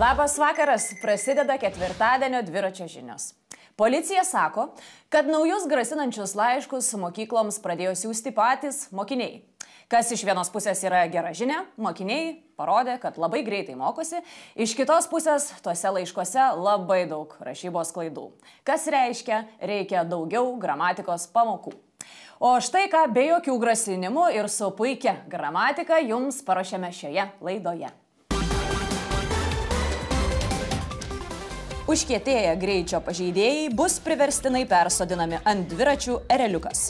Labas vakaras, prasideda ketvirtadienio dviračio žinios. Policija sako, kad naujus grasinančius laiškus mokykloms pradėjo siųsti patys mokiniai. Kas iš vienos pusės yra gera žinia, mokiniai parodė, kad labai greitai mokosi, iš kitos pusės tuose laiškuose labai daug rašybos klaidų. Kas reiškia, reikia daugiau gramatikos pamokų. O štai ką be jokių grasinimų ir su puikia gramatika jums paruošėme šioje laidoje. Užkietėję greičio pažeidėjai bus priverstinai persodinami ant dviračių ereliukas.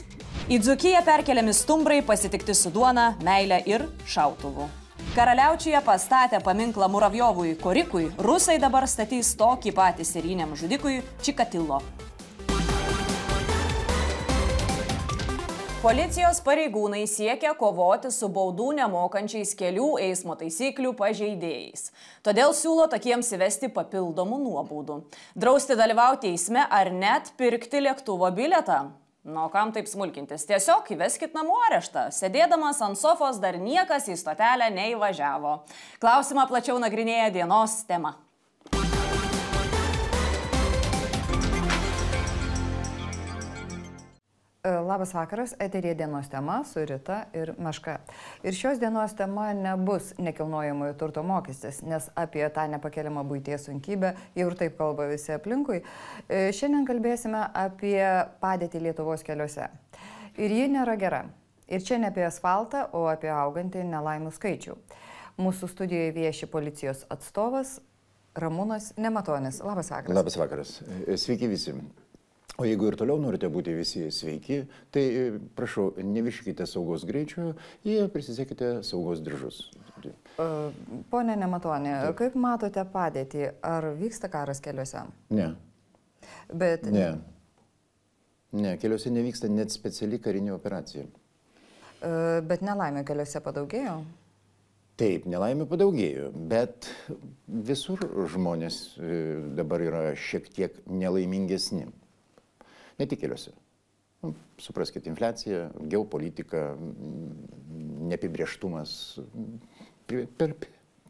Į Dzūkiją perkeliami stumbrai pasitikti su duona, meile ir šautuvu. Karaliaučiuje pastatę paminklą Muravjovui Korikui, rusai dabar statys tokį patį serijiniam žudikui Čikatilo. Policijos pareigūnai siekia kovoti su baudų nemokančiais kelių eismo taisyklių pažeidėjais. Todėl siūlo tokiems įvesti papildomų nuobaudų. Drausti dalyvauti eisme ar net pirkti lėktuvo bilietą. Nu, kam taip smulkintis? Tiesiog įveskit namų areštą. Sėdėdamas ant sofos dar niekas į stotelę neįvažiavo. Klausimą plačiau nagrinėja dienos tema. Labas vakaras, eteryje dienos tema su Rita ir Meška. Ir šios dienos tema nebus nekilnojamojo turto mokestis, nes apie tą nepakeliamą buities sunkybę jau ir taip kalba visi aplinkui. Šiandien kalbėsime apie padėtį Lietuvos keliuose. Ir ji nėra gera. Ir čia ne apie asfaltą, o apie augantį nelaimų skaičių. Mūsų studijoje vieši policijos atstovas Ramūnas Nematonis. Labas vakaras. Labas vakaras. Sveiki visi. O jeigu ir toliau norite būti visi sveiki, tai prašau, neviršykite saugos greičio ir prisisėkite saugos diržus. Pone Nematoni, kaip matote padėtį? Ar vyksta karas keliuose? Ne. Bet... Ne, keliuose nevyksta net speciali karinė operacija. Bet nelaimė keliuose padaugėjo? Taip, nelaimė padaugėjo, bet visur žmonės dabar yra šiek tiek nelaimingesni. Ne tik keliuose. Supraskite, infliacija, geopolitika, neapibrėžtumas, per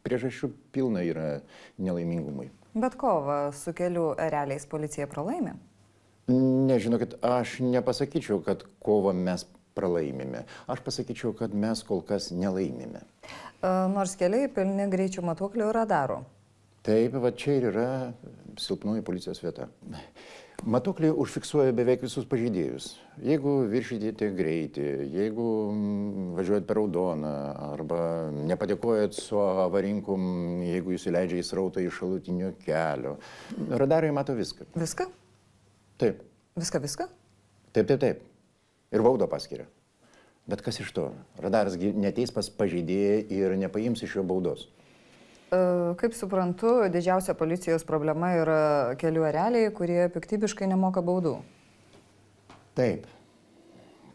priežasčių pilna yra nelaimingumui. Bet kovą su kelių ereliais policija pralaimė? Nežinokit, aš nepasakyčiau, kad kovą mes pralaimime. Aš pasakyčiau, kad mes kol kas nelaimime. Nors keliai pilni greičių matuoklių ir radarų. Taip, va čia ir yra silpnoji policijos vieta. Matuokliai užfiksuoja beveik visus pažeidėjus. Jeigu viršydėte greitį, jeigu važiuojat per raudoną arba nepadėkojat su avarinkum, jeigu jūs įleidžia į srautą iš šalutinio kelio. Radarai mato viską. Viską? Taip. Viską? Taip. Ir baudą paskiria. Bet kas iš to? Radaras neteis pas pažeidėją ir nepaims iš jo baudos. Kaip suprantu, didžiausia policijos problema yra kelių ereliai, kurie piktybiškai nemoka baudų. Taip.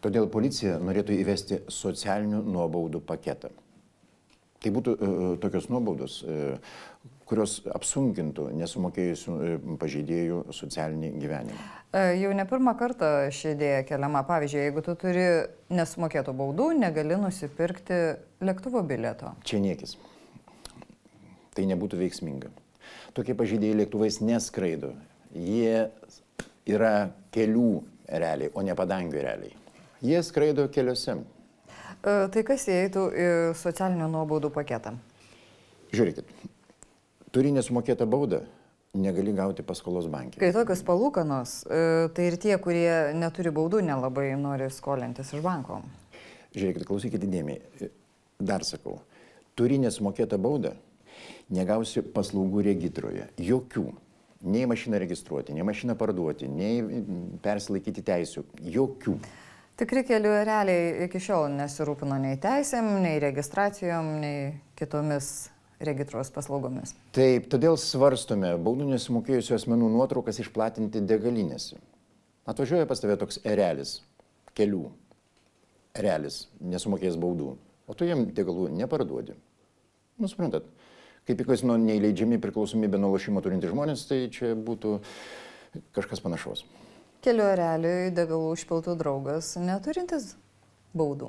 Todėl policija norėtų įvesti socialinių nuobaudų paketą. Tai būtų tokios nuobaudos, kurios apsunkintų nesumokėjusių pažeidėjų socialinį gyvenimą. Jau ne pirmą kartą ši idėja keliama. Pavyzdžiui, jeigu tu turi nesumokėtų baudų, negali nusipirkti lėktuvo bilieto. Čia niekis. Tai nebūtų veiksminga. Tokie pažeidėjai lėktuvais neskraido. Jie yra kelių ereliai, o ne padangių ereliai. Jie skraido keliuose. Tai kas įeitų į socialinių nuobaudų paketą? Žiūrėkit, turi nesumokėtą baudą, negali gauti paskolos banke. Kai tokios palūkanos, tai ir tie, kurie neturi baudų, nelabai nori skolintis iš banko. Žiūrėkit, klausykite dėmiai. Dar sakau, turi nesumokėtą baudą, negausi paslaugų regitroje. Jokių. Nei mašiną registruoti, nei mašiną parduoti, nei persilaikyti teisių. Jokių. Tikri kelių ereliai iki šiol nesirūpino nei teisėm, nei registracijom, nei kitomis regitros paslaugomis. Taip, todėl svarstome baudų nesumokėjusių asmenų nuotraukas išplatinti degalinėse. Atvažiuoja pas tave toks erelis, kelių erelis, nesumokėjęs baudų, o tu jam degalų neparduodi. Suprantat, kaip į kasino neįleidžiami priklausomybę nuo lošimo turinti žmonės, tai čia būtų kažkas panašaus. Kelių ereliui degalų užpiltų draugas neturintis baudų.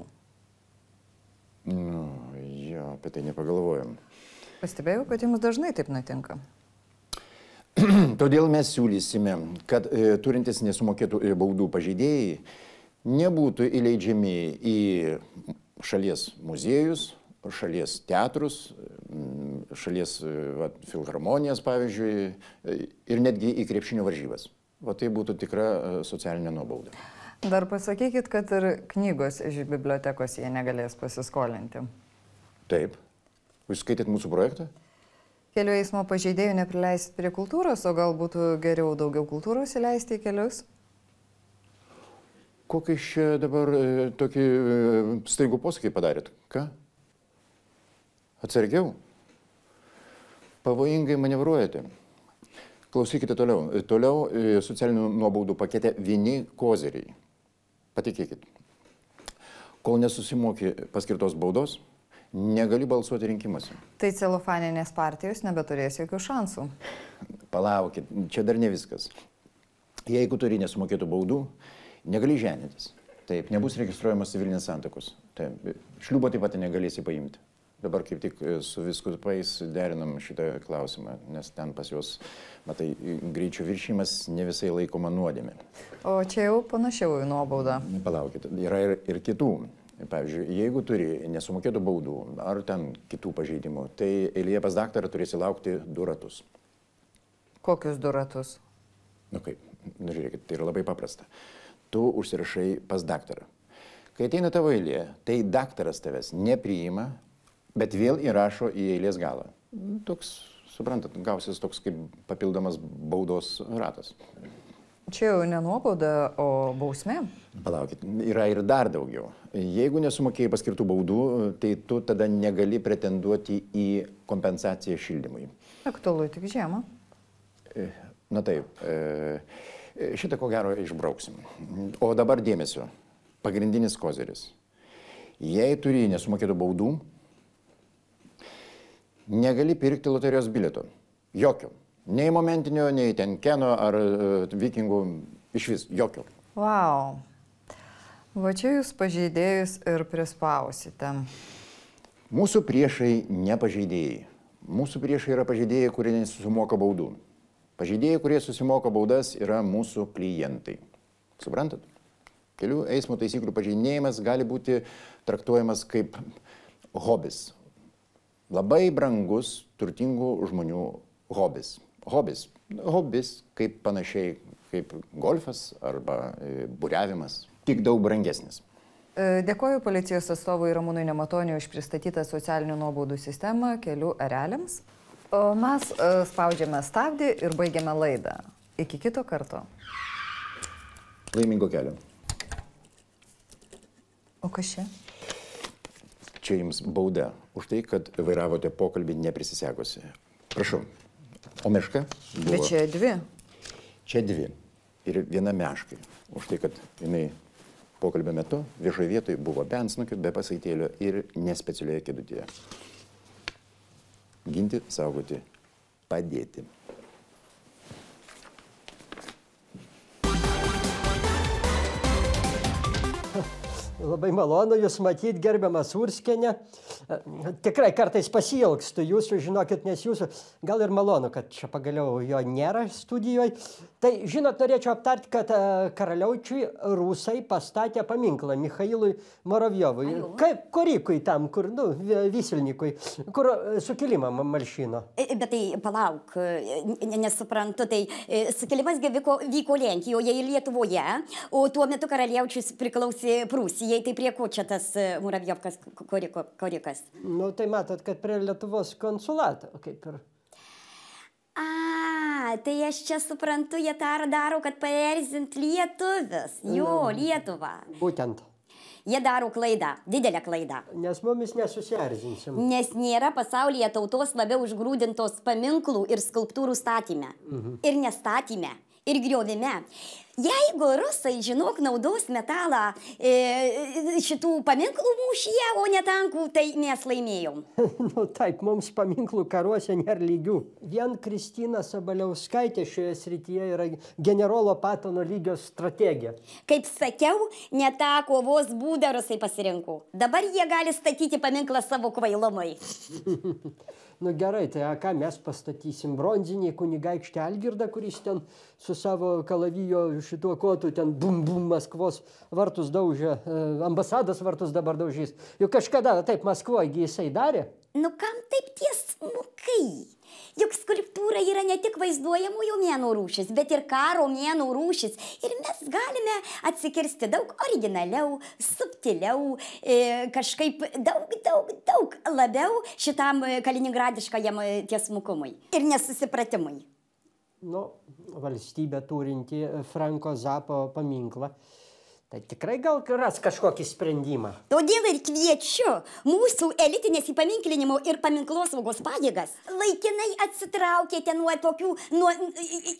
Jo, apie tai nepagalvojom. Pastebėjau, kad jums dažnai taip nutinka. Todėl mes siūlysime, kad turintis nesumokėtų baudų pažeidėjai nebūtų įleidžiami į šalies muziejus, šalies teatrus, šalies filharmonijas, pavyzdžiui, ir netgi į krepšinio varžybas. O tai būtų tikra socialinė nuobauda. Dar pasakykit, kad ir knygos iš bibliotekos jie negalės pasiskolinti. Taip. Jūs skaitėt mūsų projektą? Kelių eismo pažeidėjų neprileisit prie kultūros, o gal būtų geriau daugiau kultūros įleisti į kelius? Kokį čia dabar tokį staigų posakį padarėt? Ką? Atsargiau? Pavojingai manevruojate. Klausykite toliau. Toliau socialinių nuobaudų pakete vieni koziriai. Patikėkit. Kol nesusimoki paskirtos baudos, negali balsuoti rinkimuose. Tai celofaninės partijos nebeturės jokių šansų. Palaukit, čia dar ne viskas. Jeigu turi nesumokėtų baudų, negali ženytis. Taip, nebus registruojamas civilinės santuokos. Taip, šliubo taip pat negalėsi paimti. Dabar kaip tik su vyskupais derinam šitą klausimą, nes ten pas juos, matai, greičio viršymas ne visai laikoma nuodėmė. O čia jau panašiau į nuobaudą. Palaukit, yra ir kitų. Pavyzdžiui, jeigu turi nesumokėtų baudų ar ten kitų pažeidimų, tai eilėje pas daktarą turėsi laukti 2 ratus. Kokius 2 ratus? Nu kaip, žiūrėkit, tai yra labai paprasta. Tu užsirašai pas daktarą. Kai ateina tavo eilė, tai daktaras tavęs nepriima, bet vėl įrašo į eilės galą. Toks, suprantat, gausis toks kaip papildomas baudos ratas. Čia jau ne nuobauda, o bausmė? Palaukit, yra ir dar daugiau. Jeigu nesumokėjai paskirtų baudų, tai tu tada negali pretenduoti į kompensaciją šildymui. Aktualu tik žiemą. Na taip, šitą ko gero išbrauksim. O dabar dėmesio, pagrindinis koziris. Jei turi nesumokėtų baudų, negali pirkti loterijos bilieto. Jokio. Nei momentinio, nei ten Keno ar Vikingų, iš vis jokio. Vau. Va čia jūs pažeidėjus ir prispausite. Mūsų priešai ne pažeidėjai. Mūsų priešai yra pažeidėjai, kurie nesusimoka baudų. Pažeidėjai, kurie susimoka baudas, yra mūsų klientai. Suprantat? Kelių eismo taisyklių pažeidinėjimas gali būti traktuojamas kaip hobis. Labai brangus, turtingų žmonių hobis. Hobis kaip panašiai kaip golfas arba buriavimas, tik daug brangesnis. Dėkoju policijos atstovui Ramūnui Nematoniui už pristatytą socialinių nuobaudų sistemą kelių ereliams. O mes spaudžiame stabdį ir baigiame laidą. Iki kito karto. Laimingo kelio. O kas čia? Čia jums bauda už tai, kad vairavote pokalbį neprisisekusi. Prašau. O meška buvo... Bet čia 2. Čia 2. Ir viena meškai. Už tai, kad jinai pokalbio metu viešoje vietoje buvo be antsnukio, be pasaitėlio ir nespecialioje kėdutėje. Ginti, saugoti, padėti. Labai malonu Jūs matyti, gerbiamas Urskienė. Tikrai kartais pasiilgstu Jūsų, žinokit, nes Jūsų gal ir malonu, kad čia pagaliau jo nėra studijoje. Tai, žinot, norėčiau aptarti, kad Karaliaučiui rusai pastatė paminklą Michailui Moravjovui. Kaip Korikui tam, kur, Vysilnikui, kur sukilimą malšino. Bet tai palauk, nesuprantu, tai sukilimas vyko Lenkijoje ir Lietuvoje, o tuo metu Karaliaučius priklausė Prūsijai, tai prie ko čia tas Muravjovkas Korikas? Nu, tai matot, kad prie Lietuvos konsulato, kaip ir. Tai aš čia suprantu, jie tą daro, kad paerzint lietuvius. Jo, Lietuvą. Būtent. Jie daro klaidą, didelę klaidą. Nes mumis nesusierzinsim. Nes nėra pasaulyje tautos labiau užgrūdintos paminklų ir skulptūrų statyme. Ir nestatyme. Ir griovime. Jeigu rusai, žinok, naudos metalą šitų paminklų mūšyje, o ne tankų, tai mes laimėjom. Nu taip, mums paminklų karuose nėra lygių. Vien Kristina Sabaliauskaitė šioje srityje yra generolo Patono lygio strategija. Kaip sakiau, ne tą kovos būdą rusai pasirinko. Dabar jie gali statyti paminklą savo kvailumui. Nu gerai, tai ką mes pastatysim? Bronzinį kunigaikštį Algirdą, kuris ten su savo kalavijo šituo kotu ten bum Maskvos vartus daužė, ambasados vartus dabar daužys. Juk kažkada taip Maskvoje jisai darė. Nu kam taip tiesmukai? Juk skulptūra yra ne tik vaizduojamųjų meno rūšis, bet ir karo meno rūšis. Ir mes galime atsikirsti daug originaliau, subtiliau, kažkaip daug labiau šitam kaliningradiškajam tiesmukumui ir nesusipratimui. Nu, valstybė turinti Franko Zapo paminklą. Tai tikrai gal ras kažkokį sprendimą. Todėl ir kviečiu mūsų elitinės įpaminklinimo ir paminklosaugos pajėgas laikinai atsitraukėte nuo tokių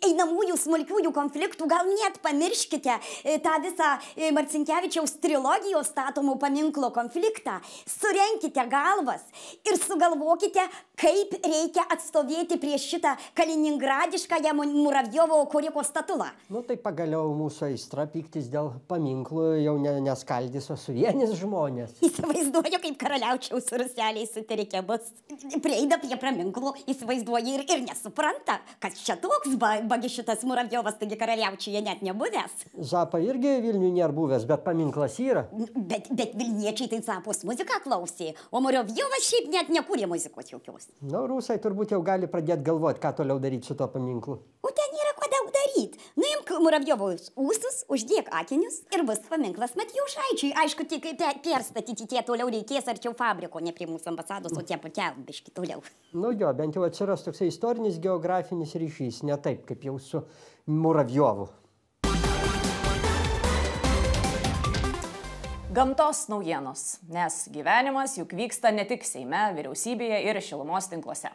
einamųjų smulkiųjų konfliktų, gal net pamirškite tą visą Marcinkevičiaus trilogijos statomų paminklo konfliktą, surenkite galvas ir sugalvokite, kaip reikia atstovėti prieš šitą kaliningradiškąją Muravjovo Koriko statulą. Nu tai pagaliau mūsų aistra pyktis dėl paminklų jau neskaldys, o suvienys žmonės. Įsivaizduoju, kaip karaliaučiaus ruseliai sutirikė bus. Prieida prie paminklų, įsivaizduoja ir nesupranta, kad čia toks bagi šitas Muravjovas, taigi karaliaučiuje net nebuvęs. Zapa irgi Vilniuje nėra buvęs, bet paminklas yra. Bet Vilniečiai tai Zapos muziką klausė, o Muravjovas šiaip net nekūrė muzikos jokios. Nu, rusai turbūt jau gali pradėti galvoti, ką toliau daryti su to paminklu. O ten nėra ko daug daryti. Nuimk Muravjovos ūsus, uždėk akinius ir bus paminklas Matijošaičiui. Aišku, tik perstatyti tie toliau reikės arčiau fabriko, ne prie mūsų ambasados, o tie pakelbiški toliau. Nu jo, bent jau atsiras toksai istorinis geografinis ryšys, ne taip, kaip jau su Muravjovu. Gamtos naujienos, nes gyvenimas juk vyksta ne tik Seime, vyriausybėje ir šilumos tinkluose.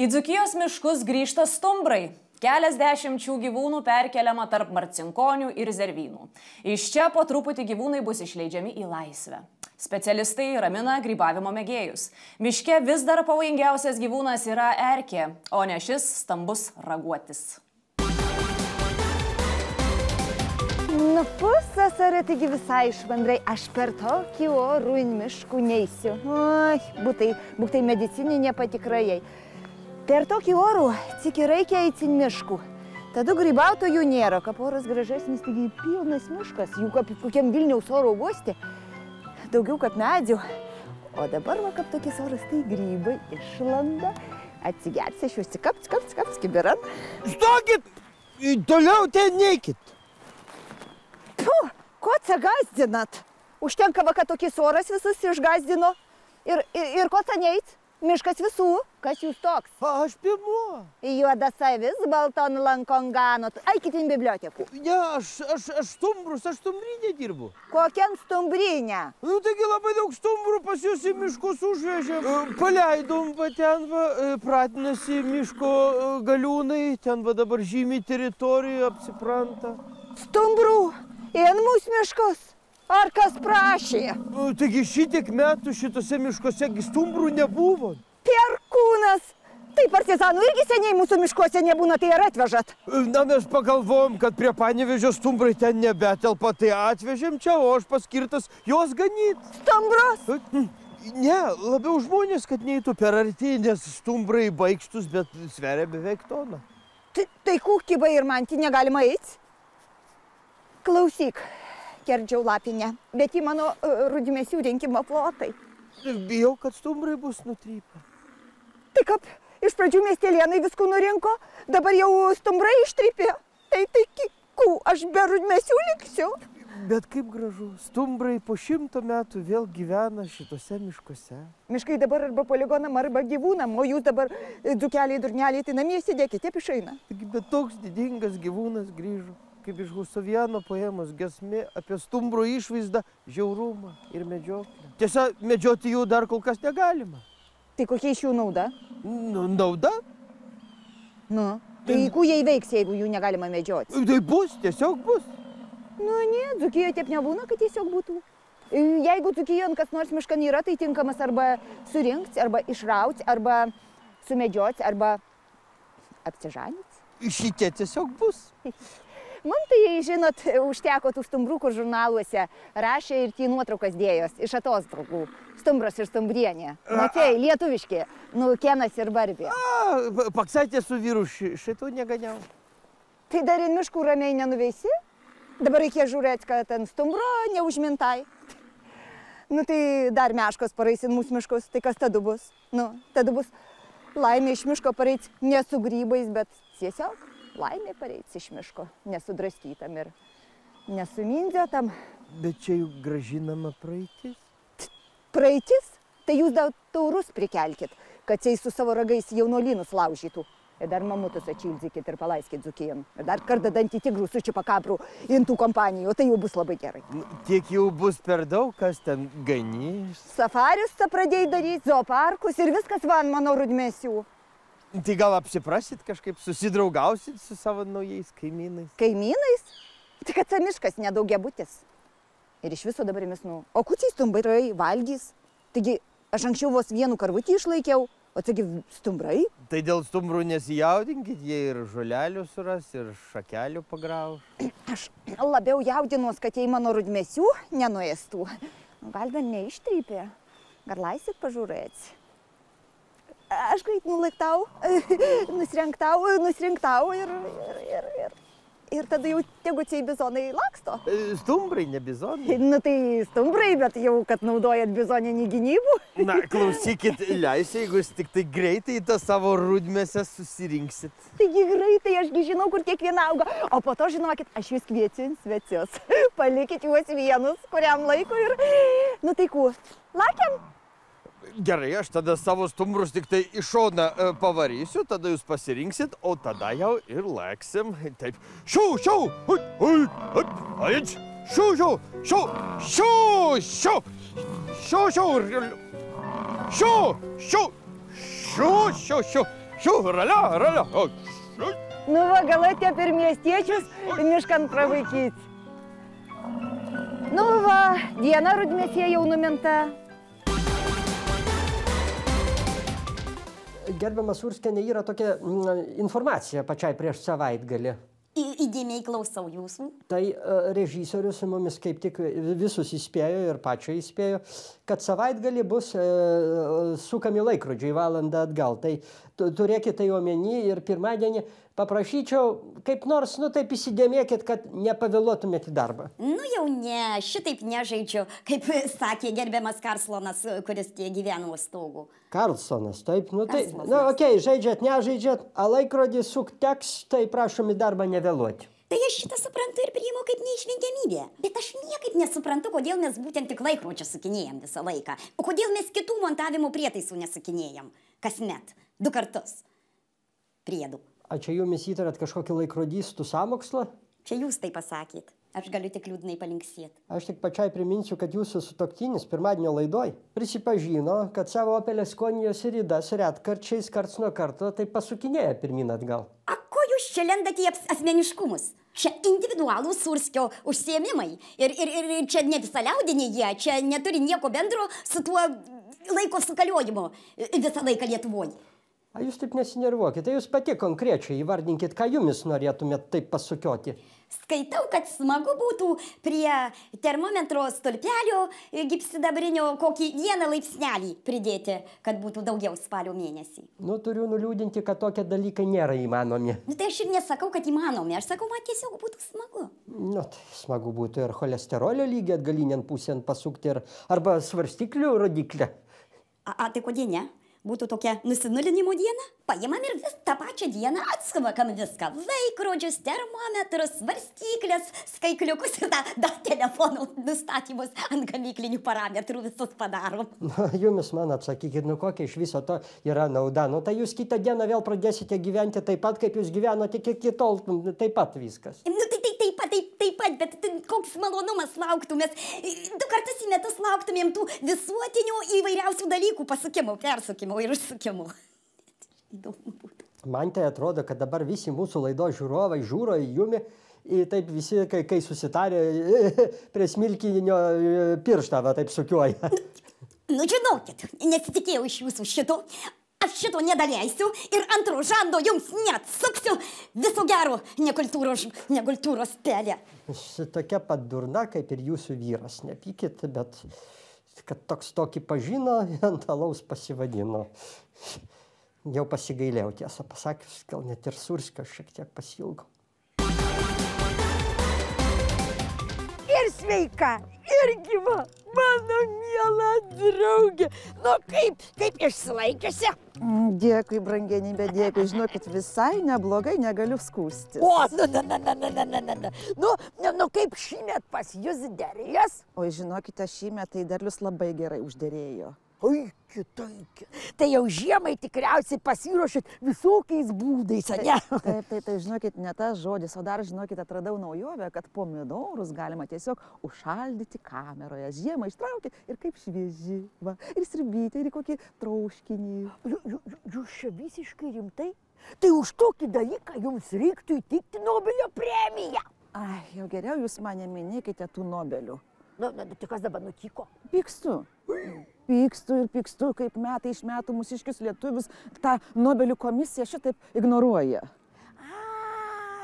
Į Dzūkijos miškus grįžta stumbrai. Keliasdešimčių gyvūnų perkeliama tarp marcinkonių ir zervynų. Iš čia po truputį gyvūnai bus išleidžiami į laisvę. Specialistai ramina grybavimo mėgėjus. Miške vis dar pavojingiausias gyvūnas yra erkė, o ne šis stambus raguotis. Nu, pusasarė, taigi visai švandrai, aš per tokį orų in miškų neisiu. Oi, būtai medicininė patikrajai. Per tokį orų ciki reikia eiti in miškų. Tada grybautojų nėra, kap oras gražesnis, taigi pilnas miškas, jų kaip kokiam Vilniaus oro uoste. Daugiau kaip medžių. O dabar, va, kaip tokis oras, tai grybai išlanda. Atsigersi, aš juos kaps, kibiran. Stokit! Toliau ten neikit. Puh, ko čia gazdinat? Užtenka, va, kad tokis oras visus išgazdino. Ir ko čia neit? Miškas visų. Kas jūs toks? Aš pirmo. Juodas avis, balton lankon ganot. Eikit į bibliotekų. Ne, aš stumbrinė dirbu. Kokiam stumbrinė? Nu, taigi labai daug stumbrų pas jūs į miškus užvežėm. Paleidom, va ten, va, pratinasi miško galiūnai, ten, va, dabar žymiai teritorijoje apsipranta. Stumbrų? Į mūsų miškus? Ar kas prašė? Taigi šitiek metų šitose miškose stumbrų nebuvo. Perkūnas! Tai partizanų irgi seniai mūsų miškuose nebūna, tai ir atvežat. Na, mes pagalvojom, kad prie Panevėžio stumbrai ten nebetelpa, tai atvežėm čia, o aš paskirtas juos ganyt. Stumbrus? Ne, labiau žmonės, kad neįtų per arti, nes stumbrai baikštus, bet sveria beveik toną. Tai kūkybai ir mantį negalima eiti? Klausyk. Kerdžiau lapinę, bet į mano rudimėsių rinkimo plotai. Bijau, kad stumbrai bus nutrypę. Tai kaip, iš pradžių miestelėnai viskų nurinko, dabar jau stumbrai ištrypė. Tai kikų, aš be rudimėsių liksiu. Bet kaip gražu, stumbrai po 100 metų vėl gyvena šitose miškuose. Miškai dabar arba poligonam, arba gyvūnam, o jūs dabar dzūkeliai, durneliai, tai namie sėdėkite, taip išeina. Bet toks didingas gyvūnas grįžo. Kaip iš Husoviano poemos giesmė apie stumbrų išvaizdą, žiaurumą ir medžioklę. Tiesa, medžioti jų dar kol kas negalima. Tai kokia iš jų nauda? Nu, nauda? Nu, tai kuo jie įveiks, jeigu jų negalima medžioti? Tai bus, tiesiog bus. Nu, ne, Dzūkijoje taip nebūna, kad tiesiog būtų. Jeigu Dzūkijoje kas nors miškan yra, tai tinkamas arba surinkti, arba išrauti, arba sumedžioti, arba apsižanyti. Šitie tiesiog bus. Man tai, žinot, užteko tų stumbrų, kur žurnaluose rašė ir tie nuotraukas dėjos iš atostogų. Stumbras ir stumbrienė. Matėjai, lietuviški. Nu, Kenas ir Barbė. Paksaitė su vyru šito neganiau. Tai dar į miškų ramiai nenuveisi? Dabar reikės žiūrėti, kad ten stumbro neužmintai. Nu, tai dar meškos paraisin mūsų miškus, tai kas tada bus? Nu, tada bus laimė iš miško pareits ne su grybais, bet tiesiog laimė pareits iš miško, nesudraskytam ir nesumindėtam. Bet čia juk gražinama praeitis. Praeitis? Tai jūs dar taurus prikelkit, kad jis su savo ragais jaunolynus laužytų. Ir dar mamutus atšildykit ir palaiskit dzukijam. Ir dar kartą dantį tigrų su čipakabrų intų kompanijų, tai jau bus labai gerai. Tiek jau bus per daug, kas ten ganys. Safarius tą pradėjai daryti, zooparkus ir viskas van mano rudmėsių. Tai gal apsiprasit kažkaip, susidraugausit su savo naujais kaimynais? Kaimynais? Tik kad miškas nedaugiabutis. Ir iš viso dabar mes, o kučiai stumbrai valgys. Taigi, aš anksčiau vos vienu karvutį išlaikiau. O taigi stumbrai? Tai dėl stumbrų nesijaudinkit, jie ir žolelių suras, ir šakelių pagrauš. Aš labiau jaudinuos, kad jei mano rudmėsių nenuėstų. Gal dar neištrypė. Gal leisit pažiūrėti? Aš greit nulaiktau, nusrinktau ir tada jau tegučiai bizonai laksto. Stumbrai, ne bizonai. Nu tai stumbrai, bet jau, kad naudojat bizoninį gynybų. Na, klausykit, leisiu, jeigu jūs tik tai greitai tą savo rudmėsę susirinksit. Taigi greitai, ašgi žinau, kur kiekviena auga. O po to, žinokit, aš jūs kviečiu į svečius. Palikit juos vienus, kuriam laikui ir... Nu tai ku, lakiam? Gerai, aš tada savo stumbrus tik tai iš šoną pavarysiu, tada jūs pasirinksit, o tada jau ir leksim. Taip, šiau, šiau, aič, šiau, šiau, šiau, šiau, šiau, šiau, šiau, šiau, šiau, šiau, šiau, šiau, ralia. Nu va, gal atėjo per miestiečius miškan pravaikyti. Nu va, diena rudmėsie jau numinta. Gerbiamas Urskienė, yra tokia informacija pačiai prieš savaitgalį. Įdėmiai klausau jūsų. Tai režisierius mumis kaip tik visus įspėjo ir pačio įspėjo, kad savaitgalį bus sukami laikrodžiai valandą atgal. Tai turėkite tai omeny ir pirmadienį paprašyčiau, kaip nors, taip įsidėmėkit, kad nepavėluotumėte į darbą. Nu jau ne, šitaip nežaidžiu, kaip sakė gerbiamas Karlsonas, kuris tie gyveno stogų. Karlsonas, taip, okei, žaidžiat, nežaidžiat, a laikrodį sukt teks, tai prašom į darbą nevėluoti. Tai aš šitą suprantu ir priimu kaip neišvengiamybę. Bet aš niekaip nesuprantu, kodėl mes būtent tik laikrodžio sukinėjam visą laiką. O kodėl mes kitų montavimo prietaisų nesukinėjam. Kasmet, 2 kartus. Priedų. A čia jumis įtarat kažkokį laikrodystų sąmokslą? Čia jūs tai pasakėt. Aš galiu tik liūdnai palinksėti. Aš tik pačiai priminsiu, kad jūsų sutuoktinis pirmadienio laidoj prisipažino, kad savo Opel Askonijos ridas retkarčiais karts nuo karto tai pasukinėja pirmyn atgal. A ko jūs čia lendat į asmeniškumus? Čia individualūs Surskio užsiėmimai. Ir čia ne visaliaudiniai jie, čia neturi nieko bendro su tuo laiko sukaliojimu visą laiką Lietuvoje. A jūs taip nesinervuokite, jūs pati konkrečiai įvardinkit, ką jumis norėtumėt taip pasukioti. Skaitau, kad smagu būtų prie termometro stulpelio gipsidabrinio kokį 1 laipsnelį pridėti, kad būtų daugiau spalio mėnesį. Nu, turiu nuliūdinti, kad tokie dalykai nėra įmanomi. Nu, tai aš ir nesakau, kad įmanomi, aš sakau, man tiesiog būtų smagu. Nu, tai smagu būtų ir cholesterolio lygį atgalinėn pusėn pasukti, arba svarstyklių rodiklę. Tai kodėl ne? Būtų tokia nusinulinimo diena, paimam ir vis tą pačią dieną atskavakam viską. Laikrodžius, termometrus, svarstyklės, skaikliukus ir tą telefonų nustatymus ant gamyklinių parametrų visus padarom. Jumis man atsakykit, kokia iš viso to yra nauda. Tai jūs kitą dieną vėl pradėsite gyventi taip pat, kaip jūs gyvenote iki tol, taip pat viskas. Nu, taip pat, bet koks malonumas lauktų. Mes 2 kartus į metus lauktumėm tų visuotinių įvairiausių dalykų pasukimų, persukimų ir užsukimų. Įdomu būtų. Man tai atrodo, kad dabar visi mūsų laidos žiūrovai žiūro į jumi, taip visi, kai susitarė, prie smilkinio pirštą, taip sukiuoja. Nu, žinokit, nesitikėjau iš jūsų šito. Aš šito nedaleisiu ir antro žando jums neatsuksiu. Viso gero, nekultūros pelė. Tokia pat durna, kaip ir jūsų vyras. Nepykit, bet kad toks tokį pažino, ant alaus pasivadino. Jau pasigailėjau, tiesą pasakius, gal net ir Surskio šiek tiek pasiilgau. Ir sveika, ir gyva, mano miela draugė. Nu kaip išsilaikiusi? Dėkui, brangenybė, dėkui. Žinokit, visai neblogai, negaliu skūstis. O, nu kaip šįmet pas jūs derės? Oi, žinokite, šįmet tai derlius labai gerai užderėjo. Oi, kitaip. Tai jau žiemai tikriausiai pasiruošit visokiais būdais, ne? Taip, žinokit, ne tas žodis, o dar, žinokit, atradau naujovę, kad pomidorus galima tiesiog užšaldyti kameroje. Žiemą ištraukti ir kaip švieži, va, ir sriubytę, ir kokį trauškinį. Jūs čia visiškai rimtai? Tai už tokį dalyką jums reiktų įteikti Nobelio premiją. Ai, jau geriau jūs mane minėkite tų Nobelių. Tai kas dabar nutiko? Pykstu. Pykstu, kaip metai iš metų mūsiškius lietuvius tą Nobelių komisiją šitaip ignoruoja.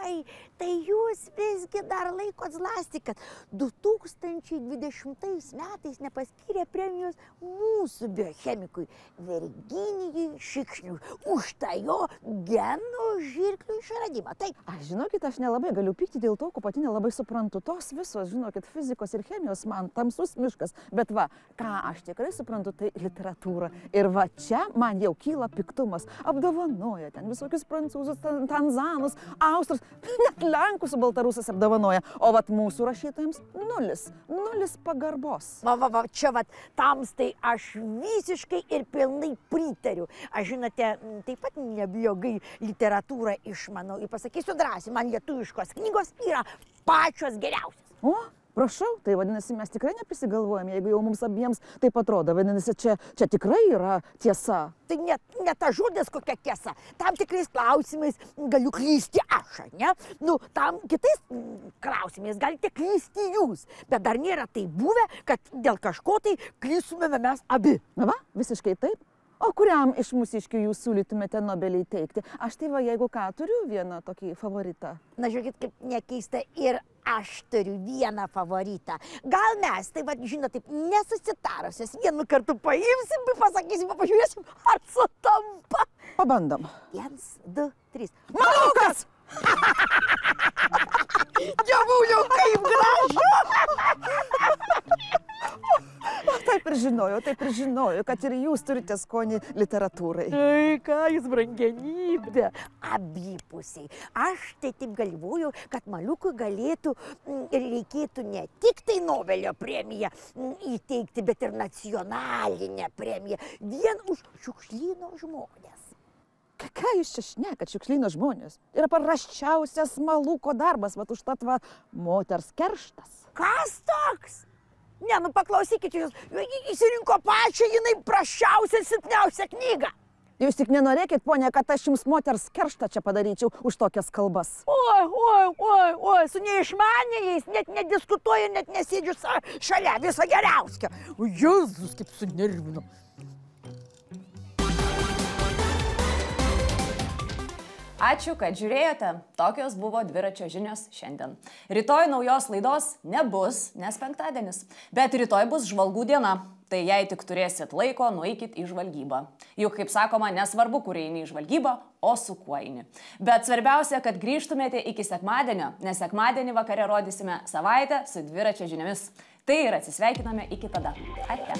Ai, tai jūs visgi dar laikot zlasti, kad 2020 metais nepaskyrė premijos mūsų biochemikui Virginijui Šikšniui už tą jo genų žirklių išradimą. Taip. Aš žinokit, aš nelabai galiu pykti dėl to, ko pati nelabai suprantu. Tos visos, žinokit, fizikos ir chemijos man tamsus miškas. Bet va, ką aš tikrai suprantu, tai literatūra. Ir va čia man jau kyla piktumas. Apdovanoja ten visokius prancūzus, tanzanus, austrus. Net Lenkus su baltarusas apdovanoja, o vat mūsų rašytojams nulis pagarbos. Va, čia vat tamstai aš visiškai ir pilnai pritariu. Aš žinote, taip pat neblogai literatūrą išmanau ir pasakysiu drąsiai, man lietuviškos knygos yra pačios geriausios. O? Prašau, tai vadinasi, mes tikrai neprisigalvojame, jeigu jau mums abiems taip atrodo. Vadinasi, čia tikrai yra tiesa. Tai ne ta žodis kokia tiesa. Tam tikrais klausimais galiu klysti aš, ne? Nu, tam kitais klausimais galite klysti jūs. Bet dar nėra tai buvę, kad dėl kažko tai klystumėme mes abi. Na va, visiškai taip. O kuriam iš mūsiškių jūs siūlytumėte Nobelį teikti? Aš tai va, jeigu ką, turiu vieną tokį favoritą. Na, žiūrėkit, kaip nekeista, ir aš turiu vieną favoritą. Gal mes, tai va, žinot, taip nesusitarusios, vienu kartu paimsim, pasakysim, pažiūrėsim, ar sutampa. Pabandom. 1, 2, 3. Malukas! Dievuliau, kaip gražu! Taip ir žinojau, kad ir jūs turite skonį literatūrai. Ai, ką jūs brangenybė. Abipusiai. Aš tai taip galvoju, kad Maliukui galėtų ir reikėtų ne tik tai Nobelio premiją įteikti, bet ir nacionalinę premiją. Vien už šiukšlyno žmonės. Ką jūs čia šnekat, šiukšlyno žmonės? Yra paprasčiausias Maluko darbas, vat užtat va moters kerštas. Kas toks? Ne, nu paklausykit jūs, įsirinko pačią, jinai prasčiausia, silpniausia knyga. Jūs tik nenorėkit, ponia, kad aš jums moters kerštą čia padaryčiau už tokias kalbas. Oi, su neišmanėjais net nediskutuoju, net nesėdžiu šalia viso geriausio. O Jėzus, kaip sunervino. Ačiū, kad žiūrėjote. Tokios buvo dviračio žinios šiandien. Rytoj naujos laidos nebus, nes penktadienis. Bet rytoj bus žvalgų diena. Tai jei tik turėsit laiko, nueikit į žvalgybą. Juk, kaip sakoma, nesvarbu, kur eini į žvalgybą, o su kuo eini. Bet svarbiausia, kad grįžtumėte iki sekmadienio, nes sekmadienį vakare rodysime savaitę su dviračio žiniomis. Tai ir atsisveikiname iki tada. Ate.